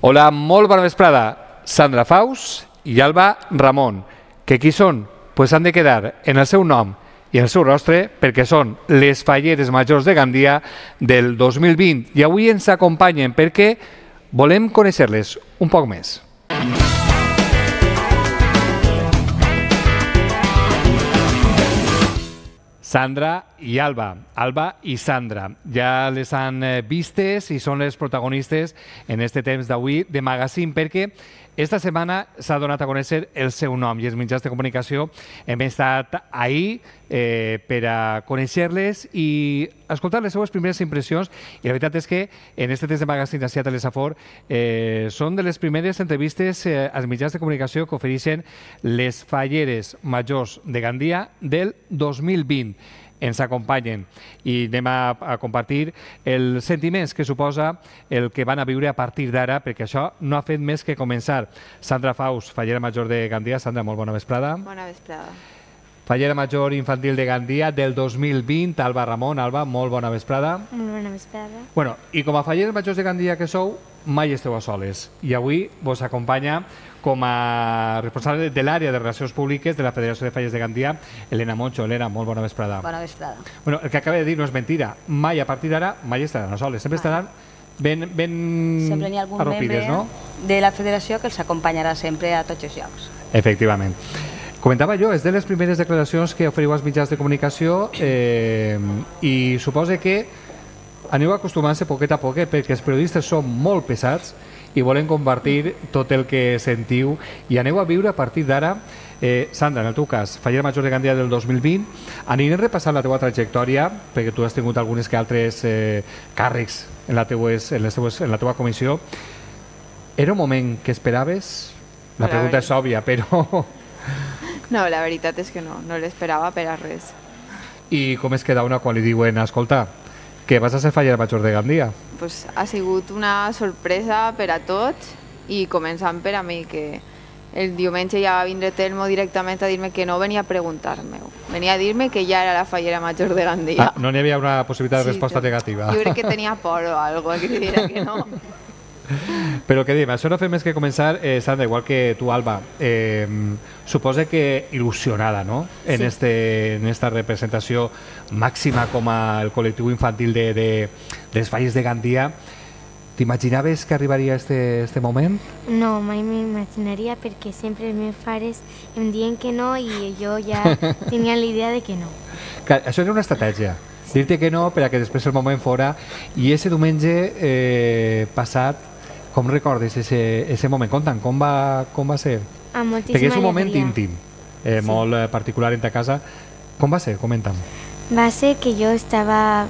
Hola, molt bona vesprada. Sandra Faus i Alba Ramon. Que qui són? Pues han de quedar en el seu nom i en el seu rostre perquè són les falleres majors de Gandia del 2020 i avui ens acompanyen perquè volem conèixer-les un poc més. Sandra i Alba. Alba i Sandra. Ja les han vistes i són les protagonistes en este temps d'avui de Magazine perquè esta setmana s'ha donat a conèixer el seu nom i els mitjans de comunicació hem estat ahir per a conèixer-les i escoltar les seues primeres impressions i la veritat és que en este temps de Magazine ací a Telesafor són de les primeres entrevistes als mitjans de comunicació que ofereixen les falleres majors de Gandia del 2020. Ens acompanyen i anem a compartir els sentiments que suposa el que van a viure a partir d'ara, perquè això no ha fet més que començar. Sandra Faus, fallera major de Gandia. Sandra, molt bona vesprada. Bona vesprada. Fallera major infantil de Gandia del 2020, Alba Ramon. Alba, molt bona vesprada. Molt bona vesprada. Bueno, i com a falleres majors de Gandia que sou, mai esteu a soles. I avui vos acompanya com a responsable de l'àrea de Relacions Públiques de la Federació de Falles de Gandia, Elena Moncho. Elena, molt bona vesprada. Bona vesprada. Bueno, el que acaba de dir no és mentira. Mai, a partir d'ara, mai estaran a soles. Sempre estaran ben sempre n'hi ha algun arropides, membre no? de la federació que els acompanyarà sempre a tots els llocs. Efectivament. Comentava jo, és de les primeres declaracions que oferiu als mitjans de comunicació i suposa que aneu acostumant-se poquet a poquet perquè els periodistes són molt pesats i volen compartir tot el que sentiu i aneu a viure a partir d'ara. Sandra, en el teu cas, fallera major de Gandia del 2020, anirem repassant la teua trajectòria perquè tu has tingut algunes que altres càrrecs en la teua comissió. Era un moment que esperaves? La pregunta és òbvia, però... No, la veritat és que no l'esperava per a res. I com es queda una quan li diuen, escolta, que vas a ser fallera major de Gandia? Pues ha sigut una sorpresa per a tots i començant per a mi, que el diumenge ja va vindre Telmo directament a dir-me que no venia a preguntar-me-ho. Venia a dir-me que ja era la fallera major de Gandia. No n'hi havia una possibilitat de resposta negativa. Jo crec que tenia por o algo, que dirà que no. Però què diem, això no fa més que començar, Sandra, igual que tu, Alba, suposa que il·lusionada, no? En esta representació màxima com el col·lectiu infantil de les falles de Gandia. T'imaginaves que arribaria este moment? No, mai m'imaginaria perquè sempre els meus pares em diuen que no i jo ja tenia la idea de que no. Clar, això era una estratègia, dir-te que no per a que després el moment fora. I ese diumenge passat, com recordes ese moment? Conta'm, com va ser? Amb moltíssima perquè és un moment alegria. íntim, molt particular en ta casa. Com va ser? Comenta'm. Va ser que jo estava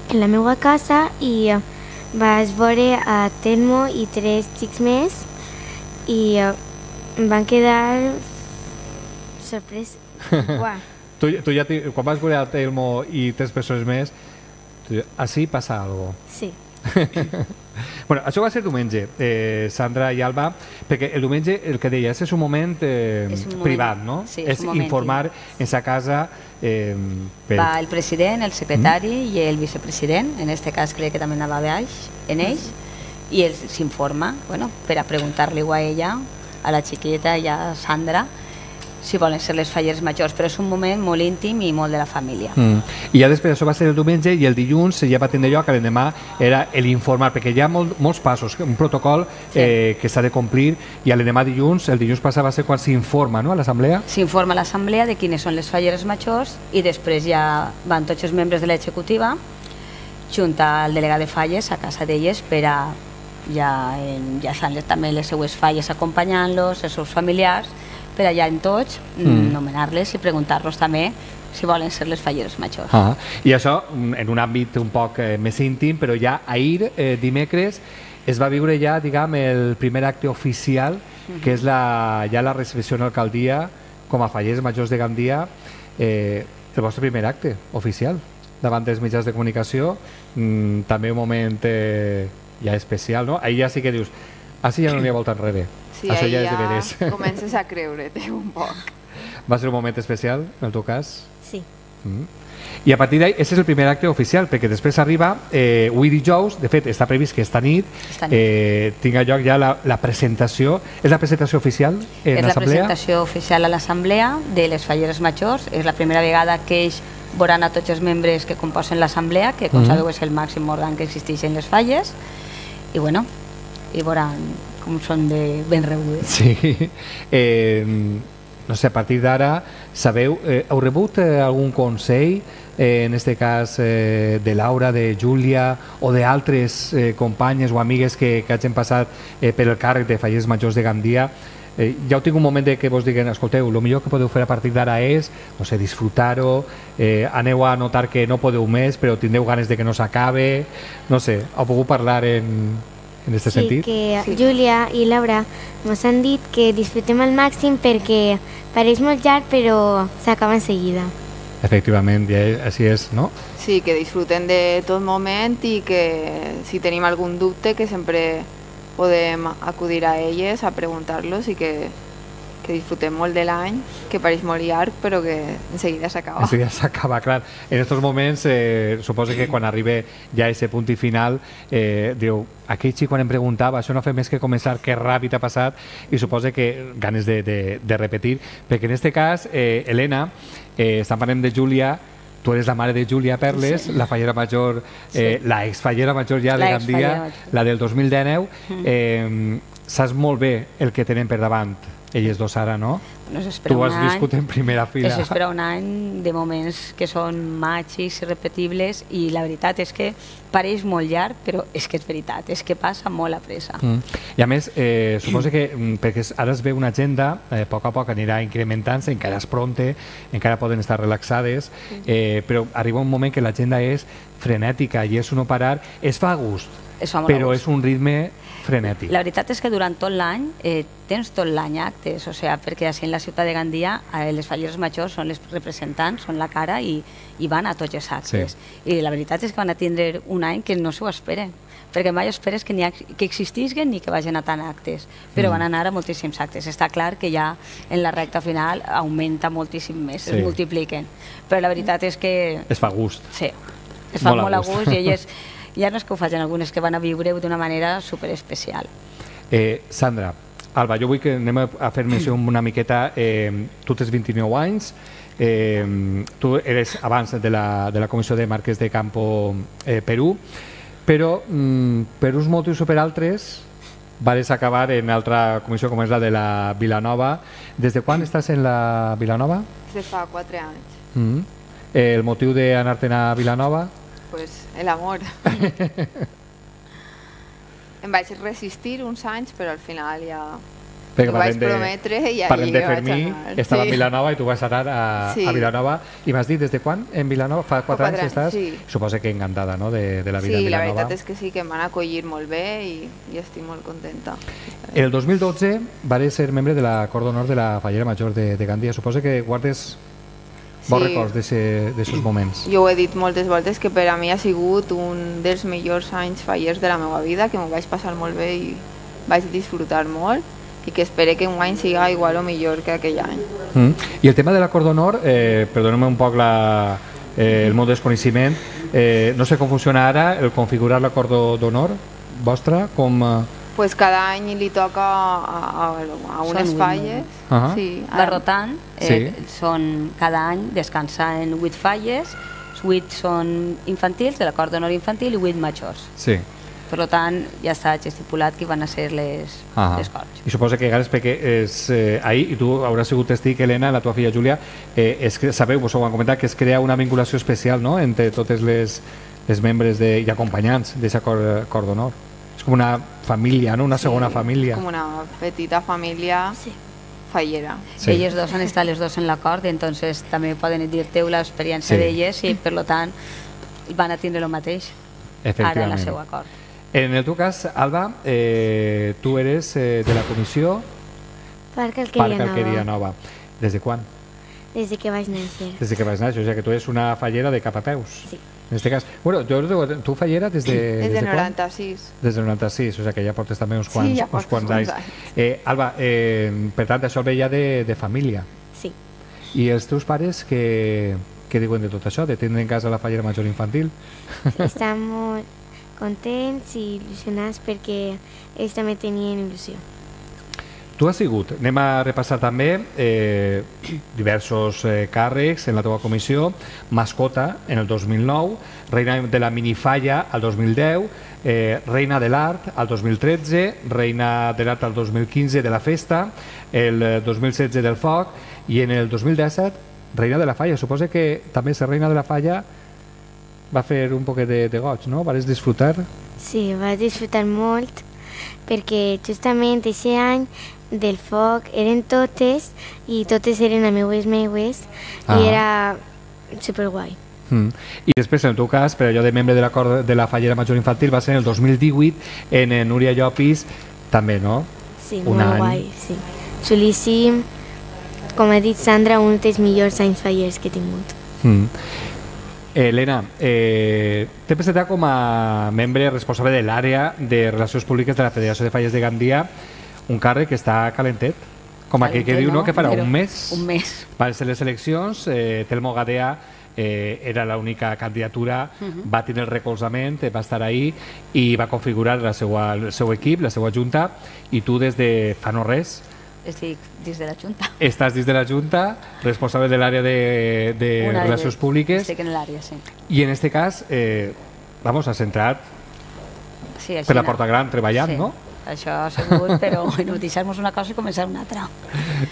en la meva casa i vaig veure a Telmo i 3 xics més i em van quedar sorprès. Uah. Tu ja, quan vas veure a Telmo i 3 persones més, així passa alguna cosa. Sí. Bueno, això va ser diumenge, Sandra i Alba, perquè el diumenge, el que deies, és un moment privat, no? Sí, és informar en sa casa. Va el president, el secretari i el vicepresident, en aquest cas crec que també anava baix en ells, i s'informa, bueno, per a preguntar-li a ella, a la xiqueta i a Sandra, si volen ser les falleres majors, però és un moment molt íntim i molt de la família. I ja després això va ser el diumenge i el dilluns ja va tindre lloc, l'endemà era l'informar, perquè hi ha molts passos, un protocol que s'ha de complir i l'endemà dilluns, el dilluns passat va ser quan s'informa, no?, a l'assemblea? S'informa a l'assemblea de quines són les falleres majors i després ja van tots els membres de l'executiva junt al delegat de falles a casa d'elles per a ja estan també les seues falles acompanyant-los, els seus familiars, per allà en tots, nomenar-les i preguntar-los també si volen ser les falleres majors. I això en un àmbit un poc més íntim, però ja ahir, dimecres, es va viure ja, diguem, el primer acte oficial, que és ja la recepció en l'alcaldia com a falleres majors de Gandia, el vostre primer acte oficial davant dels mitjans de comunicació, també un moment ja especial, no? Ahir ja sí que dius, així ja no n'hi ha volta enrere. Sí, això ja és de ja veres. comences a creure-te un poc. Va ser un moment especial, en el teu cas? Sí. I a partir d'ahí, aquest és el primer acte oficial, perquè després arriba avui dijous, de fet, està previst que esta nit tinga lloc ja la presentació. És la presentació oficial en l'Assemblea? És la presentació oficial a l'Assemblea de les falleres majors. És la primera vegada que ells veuran a tots els membres que composen l'Assemblea, que com sabeu és el màxim òrgan que existeix en les falles, i bueno, i veuran com són de ben rebudes. Sí. No sé, a partir d'ara, sabeu, heu rebut algun consell, en aquest cas de Laura, de Júlia o d'altres companyes o amigues que hagin passat per el càrrec de fallers majors de Gandia? Ja heu tingut un moment que vos diguen, escolteu, el millor que podeu fer a partir d'ara és, no sé, disfrutar-ho, aneu a notar que no podeu més, però tindreu ganes de que no s'acabe, no sé, heu pogut parlar en aquest sentit? Sí, que Júlia i Laura ens han dit que disfrutem al màxim perquè pareix molt llarg però s'acaba en seguida. Efectivament, ja així és, no? Sí, que disfruten de tot moment i que si tenim algun dubte que sempre podem acudir a elles a preguntar-los i que disfrutem molt de l'any, que pareix molt llarg però que en seguida s'acaba. En seguida s'acaba, clar. En aquests moments suposo que quan arriba ja a aquest punt i final diu, aquell xic quan em preguntava, això no fa més que començar, que ràpid ha passat, i suposo que ganes de repetir, perquè en aquest cas, Helena, estan parlant de Júlia, tu eres la mare de Júlia Perles, la fallera major, la exfallera major ja de Gandia, la del 2019. Saps molt bé el que tenen per davant elles dos ara, no? Tu has viscut en primera fila. Això espera un any de moments que són màgics, irrepetibles, i la veritat és que pareix molt llarg, però és que és veritat, és que passa molt a pressa. I a més, suposo que perquè ara es ve una agenda, a poc a poc anirà incrementant-se, encara és pronte, encara poden estar relaxades, però arriba un moment que l'agenda és frenètica i és un no parar, es fa a gust, però és un ritme frenètic. La veritat és que durant tot l'any tens tot l'any actes, o sigui, perquè així en la ciutat de Gandia les falleres majors són les representants, són la cara i van a tots els actes. I la veritat és que van a tindre un any que no s'ho esperen, perquè mai esperes que existisquen ni que vagin a tant actes, però van anar a moltíssims actes. Està clar que ja en la recta final augmenta moltíssim més, es multipliquen, però la veritat és que... Es fa gust. Sí, es fa molt a gust i elles... Ja no és que ho facin algunes que van a viure d'una manera superespecial. Sandra, Alba, jo vull que anem a fer menció una miqueta. Tu tens 29 anys, tu eres abans de la Comissió de Marques de Campo Perú, però per uns motius o per altres vas acabar en altra comissió com és la de la Vilanova. Des de quan estàs en la Vilanova? Des de fa 4 anys. El motiu d'anar-te'n a Vilanova? Pues el amor. Em vaig resistir uns anys, però al final ja ho vaig prometre i allí vaig anar. Estava a Vilanova i tu vas anar a Vilanova. I m'has dit des de quan en Vilanova? Fa 4 anys estàs? Sí. Suposo que encantada, no?, de la vida en Vilanova. Sí, la veritat és que sí, que em van acollir molt bé i estic molt contenta. El 2012 vas ser membre de la Cort d'Honor de la Fallera Major de Gandia. Suposo que guardes bons records d'aquests moments. Jo ho he dit moltes voltes que per a mi ha sigut un dels millors anys fallers de la meva vida, que m'ho vaig passar molt bé i vaig disfrutar molt i que espero que un any siga igual o millor que aquell any. I el tema de la Cort d'Honor, perdoneu-me un poc el meu desconeixement, no sé com funciona ara el configurar la Cort d'Honor vostra, com... Pues cada any li toca a unes falles. Va rotant, cada any descansa en 8 falles, 8 són infantils, de la Cort d'Honor infantil, i 8 majors. Sí. Per tant, ja està estipulat que van a ser les corts. I suposo que ganes perquè ahir, i tu hauràs sigut testig, Helena, la teva filla Júlia, sabeu, vos ho han comentat, que es crea una vinculació especial, no?, entre totes les membres i acompanyants d'aquesta Cort d'Honor. És com una família, no?, una segona família. Com una petita família fallera. Elles dos han estat les dos en la cort, entonces també poden dir-te l'experiència d'elles i per tant van a tindre el mateix ara en la seva cort. En el teu cas, Alba, tu eres de la comissió Parc Alqueria Nova. Des de quan? Des de que vaig néixer. Des de que vaig néixer, o sigui que tu eres una fallera de cap a peus. Sí. En este cas, bueno, tu fallera des de... Des de 96. Des de 96, o sigui que ja portes també uns quants anys. Alba, per tant, això ve ja de família. Sí. I els teus pares, què què diuen de tot això, de tindre en casa la fallera major infantil? Estan molt contents i il·lusionats perquè ells també tenien il·lusió. Tu has sigut, anem a repassar també diversos càrrecs en la teva comissió, mascota en el 2009, reina de la minifalla al 2010, reina de l'art al 2013, reina de l'art al 2015 de la festa, el 2016 del foc i en el 2017 reina de la falla. Suposo que també ser reina de la falla va fer un poquet de goig, no? Vas disfrutar? Sí, vaig disfrutar molt perquè justament aquest any del foc eren totes i totes eren ameues meues i era superguai. I després, en el teu cas, per allò de membre de l'acord de la fallera major infantil, va ser en el 2018 en Núria Llopis, també, no? Sí, molt guai, sí. Xulíssim, com ha dit Sandra, un dels millors anys fallers que he tingut. Elena, t'he presentat com a membre responsable de l'àrea de Relacions Públiques de la Federació de Falles de Gandia, un càrrec que està calentet, com aquell que diu, no?, que farà un mes. Un mes. Van ser les eleccions, Telmo Gadea era l'única candidatura, va tenir el recolzament, va estar ahí i va configurar el seu equip, la seva junta, i tu des de fa no res estic dins de la Junta. Estàs dins de la Junta, responsable de l'àrea de Relacions Públiques. Estic en l'àrea, sí. I en aquest cas, vamos, has entrat per la porta gran treballant, no? Això ha sigut, però bueno, deixar-nos una cosa i començar una altra.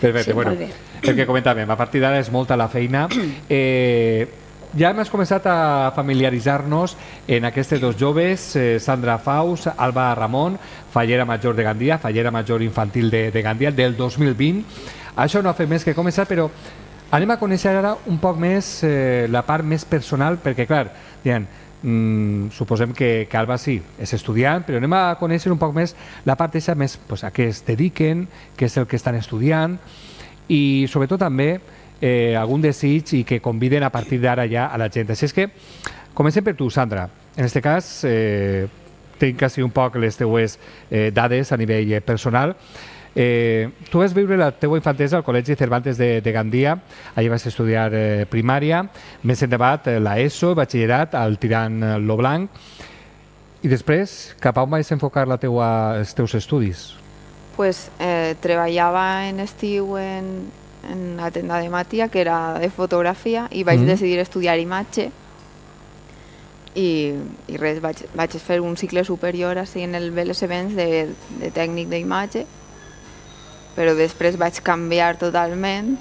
Perfecte, bueno, el que comentàvem, a partir d'ara és molta la feina. Ja hem començat a familiaritzar-nos en aquests dos joves, Sandra Faus, Alba Ramon, fallera major de Gandia, fallera major infantil de Gandia, del 2020. Això no ha fet més que començar, però anem a conèixer ara un poc més la part més personal, perquè clar, suposem que Alba sí, és estudiant, però anem a conèixer un poc més la part més a què es dediquen, què és el que estan estudiant i sobretot també algun desig i que conviden a partir d'ara ja a la gent. Així és que comencem per tu, Sandra. En aquest cas tinc quasi un poc les teues dades a nivell personal. Tu vas viure la teua infantesa al Col·legi Cervantes de Gandia, allà vas estudiar primària, més endavant l'ESO, batxillerat al Tirant lo Blanc, i després cap a on vas enfocar els teus estudis? Pues treballava en estiu en la tenda de Matia, que era de fotografia, i vaig decidir estudiar imatge i res, vaig fer un cicle superior així en el BLS Events de tècnic d'imatge, però després vaig canviar totalment.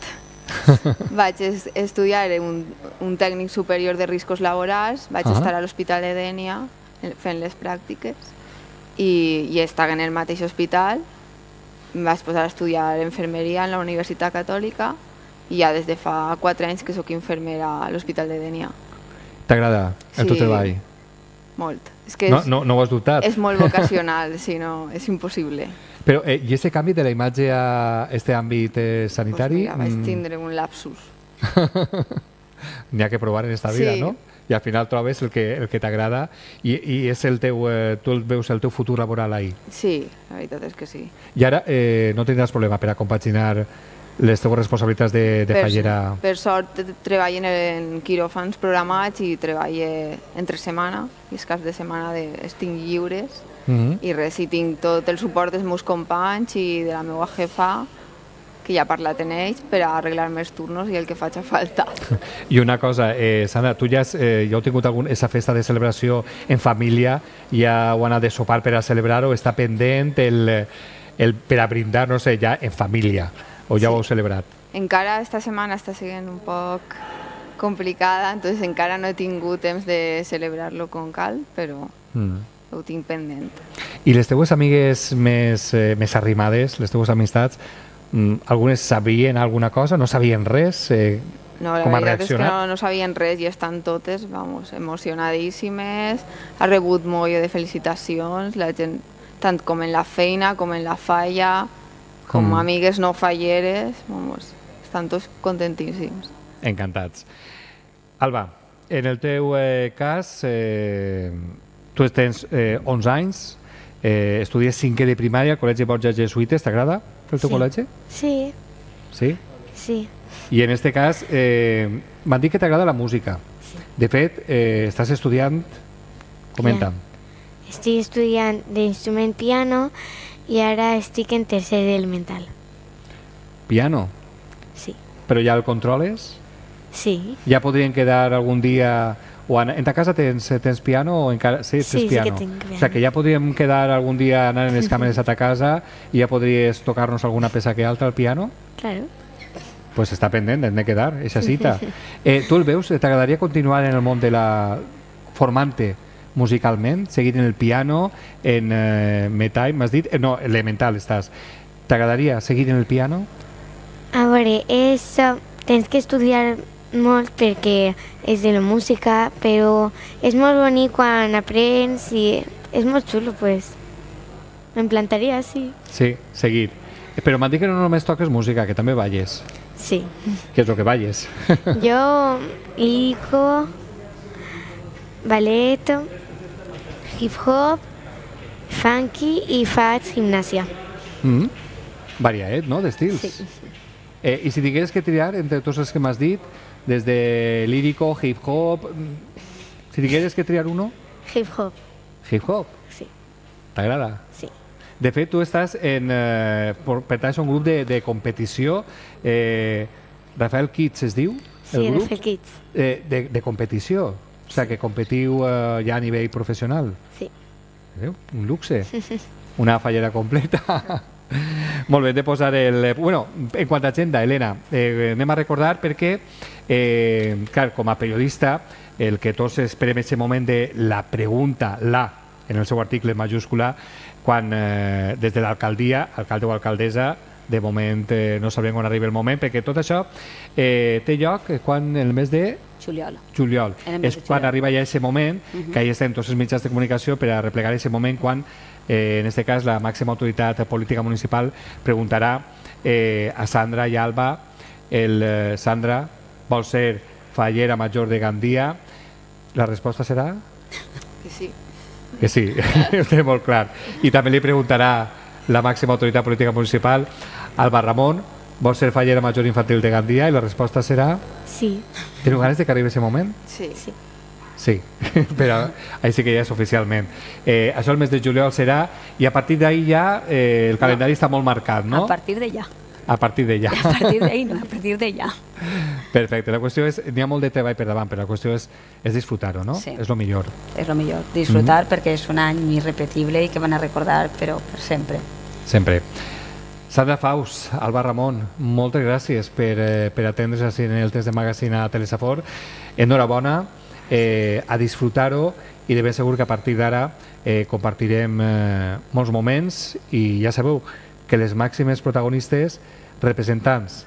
Vaig estudiar un tècnic superior de riscos laborals, vaig estar a l'Hospital de Dénia fent les pràctiques i estava en el mateix hospital. Em vaig posar a estudiar infermeria en la Universitat Catòlica i ja des de fa 4 anys que sóc infermera a l'Hospital de Dénia. T'agrada el teu treball? Molt. No ho has dubtat? És molt vocacional, si no, és impossible. Però, i aquest canvi de la imatge a aquest àmbit sanitari? Pues mira, vaig tindre un lapsus. N'hi ha que provar en esta vida, no? I al final trobes el que t'agrada i és el teu, tu veus el teu futur laboral ahí. Sí, la veritat és que sí. I ara no tindràs problema per a compaginar les teves responsabilitats de fallera? Per sort treballo en quiròfans programats i treballo entre setmana, i els caps de setmana estic lliures, i res, i tinc tot el suport dels meus companys i de la meva jefa, que ja he parlat en ells per a arreglar-me els turnos i el que faci falta. I una cosa, Sandra, tu ja heu tingut aquesta festa de celebració en família, ja heu anat de sopar per a celebrar-ho, està pendent per a brindar, no sé, ja en família, o ja ho heu celebrat? Encara esta setmana està sent un poc complicada, entonces encara no he tingut temps de celebrar-lo com cal, però ho tinc pendent. I les teues amigues més arrimades, les teues amistats, algunes sabien alguna cosa? No sabien res? No, la veritat és que no sabien res i estan totes emocionadíssimes. Ha rebut molt de felicitacions, la gent, tant com en la feina com en la falla, com amigues no falleres, estan tots contentíssims. Encantats. Alba, en el teu cas, tu tens 11 anys, estudies 5è de primària al Col·legi Borja Jesuïtes, t'agrada el teu col·legi? Sí. Sí? Sí. I en aquest cas, m'han dit que t'agrada la música. De fet, estàs estudiant... Comenta'm. Estic estudiant d'instrument piano i ara estic en tercer elemental. Piano? Sí. Però ja el controles? Sí. Ja podrien quedar algun dia... En ta casa tens piano o encara... Sí, sí, piano. Sí que tinc piano. O sigui que ja podríem quedar algun dia anar en les càmeres a ta casa i ja podries tocar-nos alguna peça que altra al piano? Claro. Pues està pendent, hem de quedar, eixa cita. Tu el veus? T'agradaria continuar en el món de la... formant-te musicalment, seguir en el piano, en metall, m'has dit? No, elemental estàs. T'agradaria seguir en el piano? A veure, tens que estudiar molt perquè és de la música, però és molt bonic quan aprens i és molt xulo, pues. Em plantaria, sí. Sí, seguir. Però m'han dit que no només toques música, que també balles. Sí. Què és el que balles? Jo lírico, ballet, hip-hop, funky i faig gimnàsia. Variat, no?, d'estils. Sí. I si digués que triar entre tots els que m'has dit, des de lírico, hip-hop... Si digués que triar uno? Hip-hop. Hip-hop? Sí. T'agrada? Sí. De fet, tu estàs pertanys a un grup de competició. Rafael Kids es diu? Sí, Rafael Kids. De competició. O sigui, que competiu ja a nivell professional. Sí. Un luxe. Una fallera completa. Molt bé, hem de posar el... Bueno, en quant a agenda, Helena, anem a recordar perquè, clar, com a periodista, el que tots esperem és el moment de la pregunta, en el seu article majúscula, quan des de l'alcaldia, alcalde o alcaldessa, de moment no sabrem quan arriba el moment, perquè tot això té lloc quan el mes de... Juliol. És quan arriba ja aquest moment, que ahí estem tots els mitjans de comunicació per a replegar aquest moment quan, en aquest cas, la màxima autoritat política municipal preguntarà a Sandra i Alba, Sandra vol ser fallera major de Gandia. La resposta serà? Que sí. Que sí, ho té molt clar. I també li preguntarà la màxima autoritat política municipal, Alba Ramon, vol ser fallera major infantil de Gandia? I la resposta serà... Sí. Teniu ganes de que arribi aquest moment? Sí. Sí. Sí, però ahí sí que ja és oficialment. Això el mes de juliol serà, i a partir d'ahí ja el calendari està molt marcat, no? A partir de ja. A partir de ja. A partir d'ahí no, a partir de ja. Perfecte, la qüestió és, n'hi ha molt de treball per davant, però la qüestió és disfrutar-ho, no? Sí. És el millor. És el millor, disfrutar perquè és un any irrepetible i que van a recordar, però per sempre. Sempre. Sandra Faus, Alba Ramon, moltes gràcies per atendre's així en el test de Magazine a Telesafor. Enhorabona, a disfrutar-ho, i de ben segur que a partir d'ara compartirem molts moments, i ja sabeu que les màximes protagonistes, representants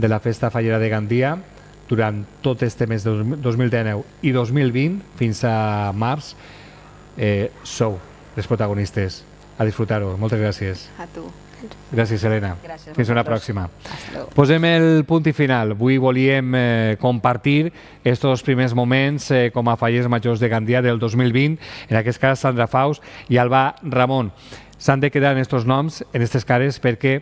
de la Festa Fallera de Gandia, durant tot este mes de 2019 i 2020, fins a març, sou les protagonistes. A disfrutar-ho. Moltes gràcies. A tu. Gràcies, Helena. Gràcies. Fins una pròxima. Hasta luego. Posem el punt i final. Avui volíem compartir estos primers moments com a fallers majors de Gandia del 2020, en aquest cas Sandra Faus i Alba Ramon. S'han de quedar en estos noms, en aquestes cares, perquè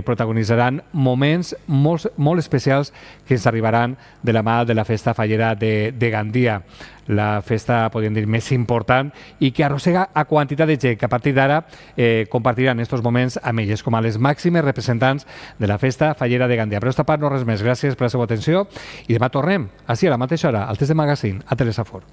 protagonitzaran moments molt especials que ens arribaran de la mà de la Festa Fallera de Gandia. La festa, podríem dir, més important i que arrossega a quantitat de gent que a partir d'ara compartiran estos moments amb elles com a les màximes representants de la Festa Fallera de Gandia. Per aquesta part, no res més. Gràcies per la seva atenció i demà tornem, així a la mateixa hora, al test de Magazine, a Telesafor.